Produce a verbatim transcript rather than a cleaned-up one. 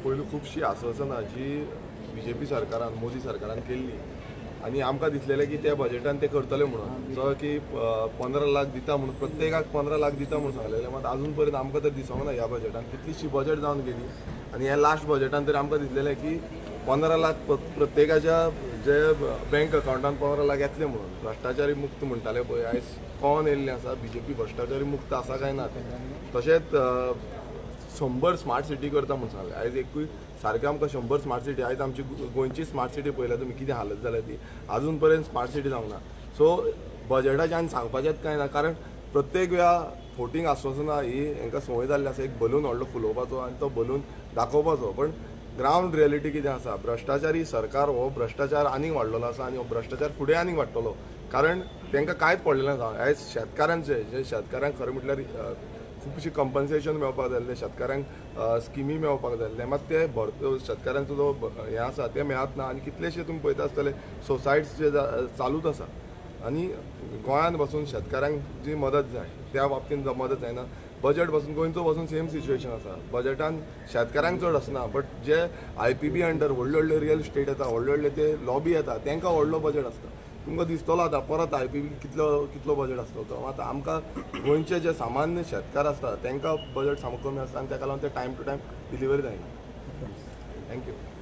पयलू खुबशीं आस्वासनां जी बी जे पी सरकारान, मोदी सरकारान केल्ली आनी आमकां दिसलेलें की त्या बजेटान ते करतले म्हणून, जो की पंदरा लाख दिता म्हणून, प्रत्येकाक पंदरा लाख दिता म्हणून सांगलेलें, मात आजून पर्यंत आमकां तर दिसोंक ना. ह्या बजेटान कितलीशी बजेट जावन गेली आनी ह्या लास्ट बजेटान तर आमकां दिसलेलें की पंदरा लाख प्रत्येकाच्या जे बँक अकावंटान पंदरा लाख येतले म्हणून. भ्रश्टाचारी मुक्त म्हणटाले पळय, आयज कोण येयल्लें आसा बी जे पी भ्रश्टाचारी मुक्त आसा काय ना तें. तशेंच शंबर स्मार्ट सिटी करता म्हूण सांगलें, आयज एकूय सारकें आमकां शंबर स्मार्ट सिटी, आयज आमची गोंयची स्मार्ट सिटी पळयल्या तुमी कितें हालत जाल्या ती, आजून पर्यंत स्मार्ट सिटी जावंक ना. सो बजेटाच्यान आनी सांगपाचेंच कांय ना, कारण प्रत्येक वेळा फोटींग आस्वासनां ही हांकां संवय जाल्ली आसा, एक बलून व्हडलो फुलोवपाचो आनी तो बलून दाखोवपाचो. पण ग्रावंड रियलिटी कितें आसा, भ्रश्टाचारी सरकार हो भ्रश्टाचार आनीक वाडलेलो आसा आनी हो भ्रश्टाचार फुडें आनीक वाडटलो, कारण तांकां कांयच पडलेलें ना. आयज शेतकारांचे जे शेतकारांक खरें म्हटल्यार खुबशी कंपन्सेशन मेळपाक जाय आसलें, शेतकारांक स्किमी मेळपाक जाय आसलें, मात ते भर शेतकारांचो जो हें आसा तें मेळत ना आनी कितलेशे तुमी पळयता आसतले सोसायट्स जे चालूच आसा आनी गोंयांत बसून शेतकारांक जी मदत जाय त्या बाबतींत मदत जायना. बजेट बसून गोंयचो बसून सेम सिच्युएशन आसा, बजेटान शेतकारांक चड आसना, but J I P B under व्हडले व्हडले रियल इस्टेट येता, व्हडले व्हडले ते लॉबी येता, तांकां व्हडलो बजेट आसता. तुमकां दिसतलो आतां परत I P बी कितलो कितलो बजेट आसतलो तो. आतां आमकां गोंयचे जे सामान्य शेतकार आसता तांकां बजेट सामको कमी आसता आनी ताका लागून ते टायम टू टायम डिलिव्हरी जायना. Thank you.